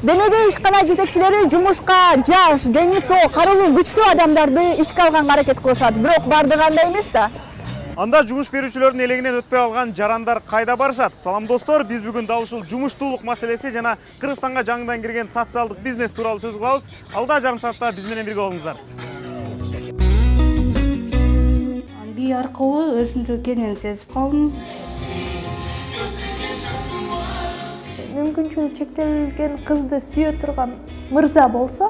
Демеде ишкана жетекчилери жумушка жаш, дени соо, карылуу күчтүү адамдарды ишке алганга аракет кылышат, бирок бардыгы андай эмес да. Анда жумуш берүүчүлөрдүн элегинен өтпөй алган жарандар кайда барышат? Салам достор, биз бүгүн дал ушул жумуштуулук маселеси жана Кыргызстанга жаңыдан кирген социалдык бизнес тууралуу сөз кылабыз. Алда жарым саатта биз менен бирге болуңуздар. Би аркылуу өзүмдү кенен сезип калдым. Мүмкүнчүлүгү чектелген кызды сүйө турган мырза болсо,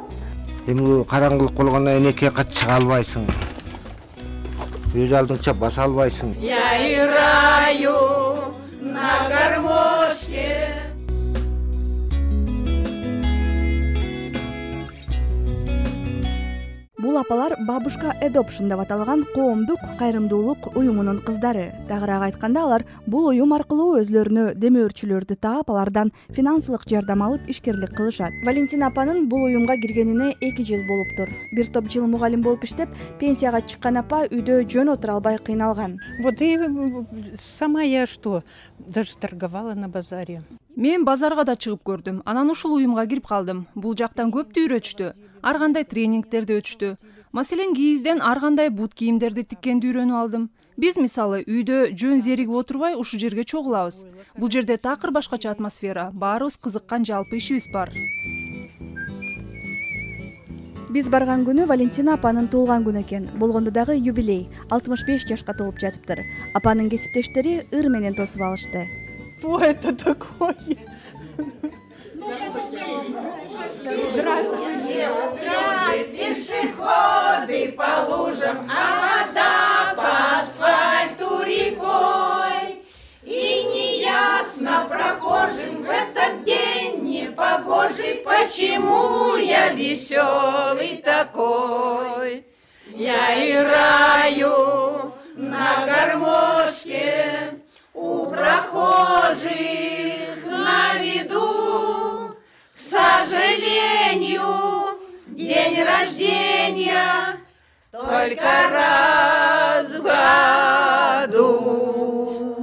эми караңгылык болгондон кийин экиге кат чыга албайсың. Өз алдыңча баса албайсың. Я играю на гармошке. Бул апалар Бабушка Adoption деп аталган коомдук кайрымдуулук уюмунун кыздары. Тагыраак айтканда, алар бул уюм аркылуу өзлөрүнө демөөрчүлөрдү таап, алардан финансылык жардам алып ишкерлик кылышат. Валентина апанын бул уюмга киргенине 2 жыл болуптур. Бир топ жыл мугалим болуп иштеп, пенсияга чыккан апа үйдө жөн отура албай кыйналган. Вот и сама я что, даже торговала на базаре. Мен базарга да чыгып көрдүм. Анан ушул уюмга кирип калдым. Бул жактан көптү үйрөтүштү. Ар кандай тренингтерди өтүштү. Маселен, кийизден ар кандай бут кийимдерди тиккенди үйрөнүп алдым. Биз мисалы үйдө жөн зеригип отурбай ушул жерге чогулабыз. Бул жерде такыр башкача атмосфера, баарыбыз кызыккан жалпы ишибиз бар. Биз барган күнү Валентина апанын туулган күнү экен. Болгондо дагы юбилей, 65 жашка толуп жатыптыр. Апанын кесиптештери ыр менен тосуп алышты. Что это такое? Здравствуйте, пешеходы по лужам, а вода по асфальту рекой. И неясно прохожим в этот день непогожий, почему я веселый такой. Я играю на гармошке у прохожих на виду. К сожалению, день рождения только раз в году.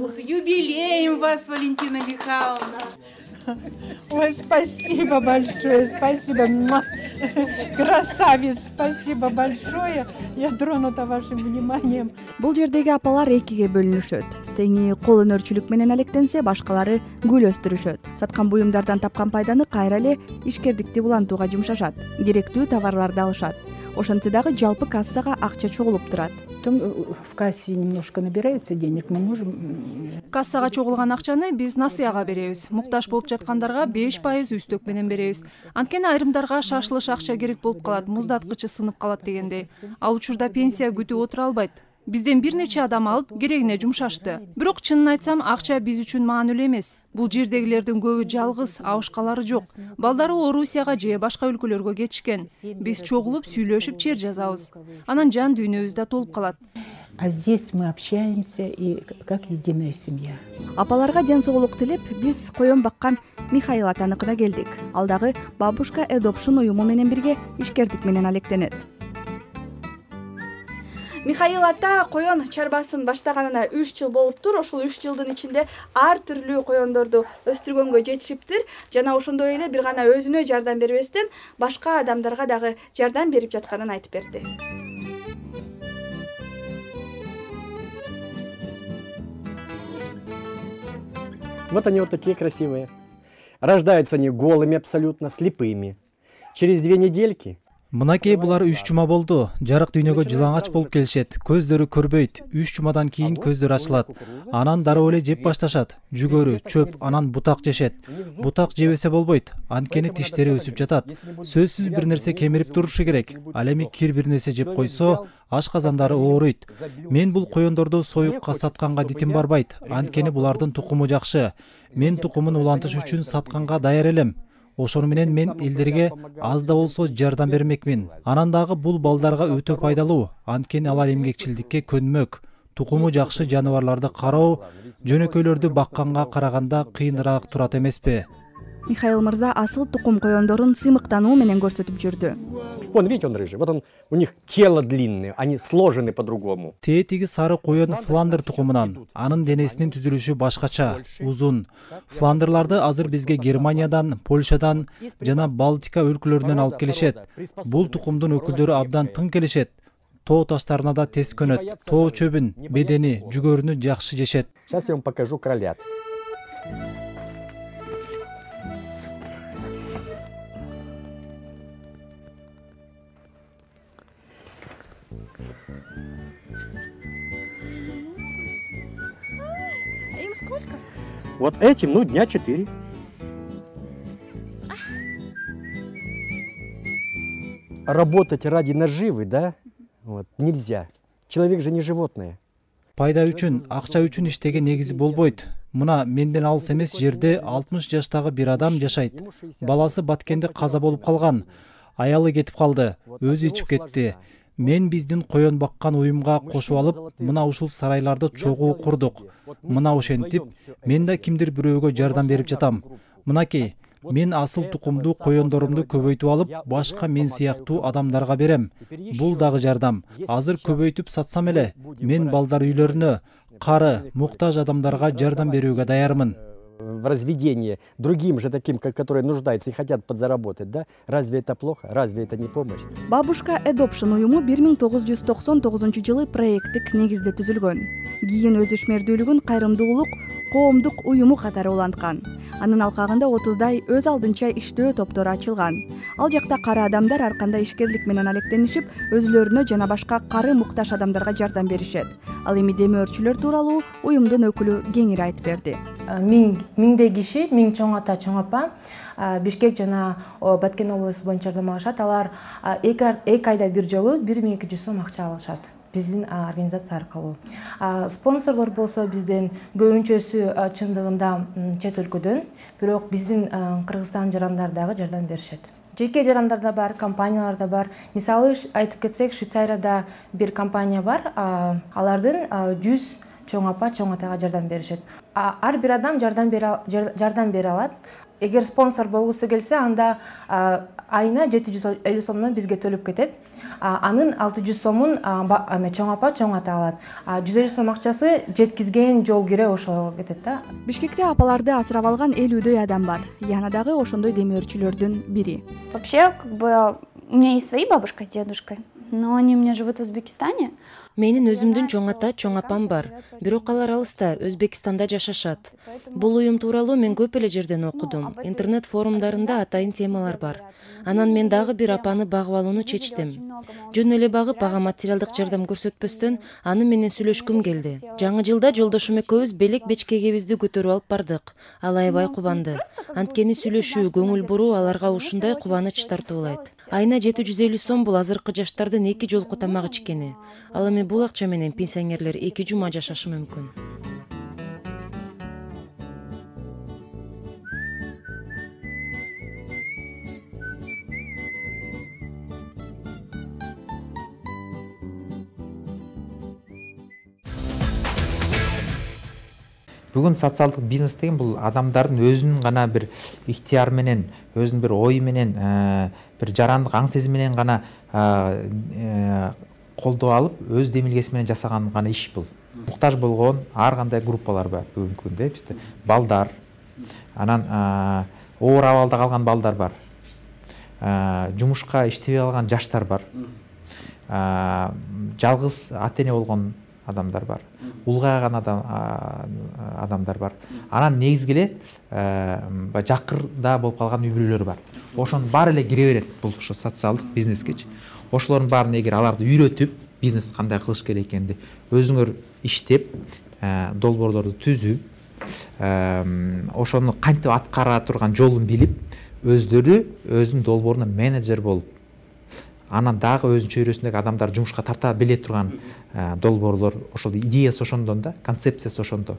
С юбилеем вас, Валентина Михайловна! Ой, спасибо большое, спасибо. Красавец, спасибо большое. Я тронута вашим вниманием. Бул жердеги апалар экиге бөлүнүшөт. Теңи кол өнөрчүлүк менен алектенсе, башкалары гүл өстүрүшөт. Саткан буюмдардан тапкан пайданы кайра эле ишкердикти улантууга жумшашат. Керектүү товарларды алышат. Ошентсе дагы жалпы кассага акча чогулуп турат. Потом в кассе немножко набирается денег, мы можем... Кассага чогулган акчаны биз насыяга беребиз. Муктаж болуп жаткандарга 5% үстөк менен беребиз. Анткени айрымдарга шашылыш акча керек болуп калат, муздаткычы сынып калат дегендей. Ал учурда пенсия күтүп отура албайт. Бизден бир нече адам алып керегине жумшашты. Бирок чынын айтсам, акча биз үчүн маанилүү эмес. Бул жердегилердин көбү жалгыз, абышкалары жок. Балдары Орусияга же башка өлкөлөргө кетишкен. Биз чогулуп сүйлөшүп чер жазабыз. Анан жан дүйнөбүз да толуп калат. А здесь мы общаемся и как единая семья. Апаларга ден соолук тилеп, биз коён баккан Михаил атаныкына келдик. Ал дагы Бабушка Adoption уюму менен бирге ишкердик менен алектенет. Михаил ата коён чарбасын баштаганына 3 жыл болуптур. Ошол 3 жылдын ичинде ар түрлүү коёндорду өстүргөнгө жетишиптир. Жана ошондой эле бир гана өзүнө жардам бербестен, башка адамдарга дагы жардам берип жатканын айтып берди. Вот они вот такие красивые. Рождаются они голыми абсолютно, слепыми. Через 2 недельки Мынакей булар 3 жума болду. Жарык дүйнөгө жылаңач болуп келишет. Көздөрү көрбөйт. 3 жумадан кийин көздөр ачылат. Анан дароо эле жеп башташат. Жүгөрү, чөп, анан бутак жешет. Бутак жебесе болбойт. Анткени тиштери өсүп жатат. Сөзсүз бир нерсе кемирип турушу керек. Ал эми кир бир нерсе жеп койсо, ашказандары ооруйт. Мен бул коёндорду союкка сатканга дитим барбайт. Анткени булардын тукуму жакшы. Мен тукумун улантыш үчүн сатканга даяр элем. Ошону менен мен элдерге аз да болсо жардам бермекмин. Анан дагы бул балдарга өтө пайдалуу. Анткени алар эмгекчилдикке көнмөк. Тукуму жакшы жаныбарларды кароо жөнөкөйлөрдү бакканга караганда кыйыныраак турат эмеспи? Михаил мырза асыл тукум коёндорун сыймыктануу менен көрсөтүп жүрдү. Вон, видите, он рыжий. Вот он, у них тело длинное, они сложены по-другому. Тетиги сары коен фландер тукумунан. Анын денесинин түзүлүшү башкача, узун. Фландерларды азыр бизге Германиядан, Польшадан жана Балтика өлкөлөрүнөн алып келишет. Бул тукумдун өкүлдөрү абдан тың келишет. Тоо таштарына да тез көнөт. Тоо чөбүн, бедени, жүгөрүнү жакшы жешет. Сейчас я вам покажу кролят. Им сколько? Вот этим, ну, дня 4. Работать ради наживы, да? Вот, нельзя. Человек же не животное. Пайда үчүн, акча үчүн иштеген негизи болбойт. Мына менден алыс эмес жерде 60 жаштагы бир адам жашайт. Баласы Баткенде каза болуп калган. Аялы кетип калды, өзү ичип кетти. Мен биздин коен баккан уюмга кошуп алып, мына ушул сарайларды чогуу курдук. Мына ошентип, мен да кимдир бирөөгө жардам берип жатам. Мынакей, мен асыл тукумдуу коендорумду көбөйтүп алып, башка мен сыяктуу адамдарга берем. Бул дагы жардам. Азыр көбөйтүп сатсам эле, мен балдар үйлөрүнө, кары, муктаж адамдарга жардам берүүгө даярмын. В разведение другим же таким, которые нуждаются и хотят подзаработать, да? Разве это плохо? Разве это не помощь? Бабушка Adoption уюму 1999-жылы проекттик негизде түзүлгөн. Кийин өз ишмердүүлүгүн кайрымдуулук коомдук уюму катары уланткан. Анын алкагында 30дай өз алдынча иштөө топтору ачылган. Ал жакта кары адамдар ар кандай ишкерлик менен алектенишип, өзүлөрүнө жана башка кары муктаж адамдарга жардам беришет. Ал эми демөөрчүлөр тууралуу уюмдун өкүлү кеңири айтып берди. Миңдей киши, миң чоң ата, чоң апа Бишкек жана Баткен облусу боюнча жардам алышат. Алар 2 айда бир жолу 1200 сом акча алышат биздин организация аркылуу. Спонсорлор болсо бизден көбүнчөсү чындыгында чет өлкөдөн, бирок биздин Кыргызстан жарандар дагы жардам беришет. Жеке жарандар да бар, компаниялар да бар. Мисалы айтып кетсек, Швейцарияда бир компания бар, алардын 100 чоң апа, чоң атага жардам беришет. Ар бир адам жардам бере алат. Эгер спонсор болгусу келсе, анда айына 750 сомдон бизге төлөп кетет. Анын 600 сомун чоң апа, чоң ата алат. 150 сом акчасы жеткизген жол кире ошого кетет да. Бишкекте апаларды асырап алган 50дөй адам бар. Яна дагы ошондой демөөрчүлөрдүн бири. Вообще, у меня есть свои бабушка с дедушкой, но они у меня живут в Узбекистане. Менин өзүмдүн чоң ата, чоң апам бар. Бирок алар алыста, Өзбекстанда жашашат. Бул уюм тууралуу мен көп эле жерден окудум. Интернет форумдарында атайын темалар бар. Анан мен дагы бир апаны багып алууну чечтим. Жөн эле багып, ага материалдык жардам көрсөтпөстөн, аны менен сүйлөшкүм келди. Жаңы жылда жолдошум экөөбүз белек бечкегибизди көтөрүп алып бардык. Ал аябай кубанды. Анткени сүйлөшүү, көңүл буруу аларга ушундай кубаныч тартуулайт. Айына 750 сом бул азыркы жаштардын 2 жолку тамак ичкени. Ал эми бул акча менен пенсионерлер 2 жума жашашы мүмкүн. Бүгүн социалдык бизнес деген бул адамдардын өзүнүн гана бир ихтияр менен, өзүнүн бир ой менен, бир жарандык аң сезим менен гана колдоп алып, өз демилгеси менен жасаган гана иш бул. Муктаж болгон ар кандай группалар бар бүгүнкү күндө, бизде балдар, анан оор абалда калган балдар бар. Жумушка иштебей калган жаштар бар. Жалгыз ата-эне болгон адамдар бар. Улгайган адамдар бар. Анан негизги эле жакырда болуп калган үй-бүлөлөр бар. Ошонун баары эле кире берет бул ошо социалдык бизнескечи. Ошолордун баарын эгер аларды үйрөтүп, бизнес кандай кылыш керек экенди өзүңөр иштеп, долбоорлорду түзүп, ошону кантип аткара турган жолун билип, өздөрү өзүнүн долбооруна менеджер болуп, анан дагы өзүнүн чөйрөсүндөгү адамдар жумушка тарта биле турган долбоорлор, ошол идеясы ошондон да, концепциясы ошондо.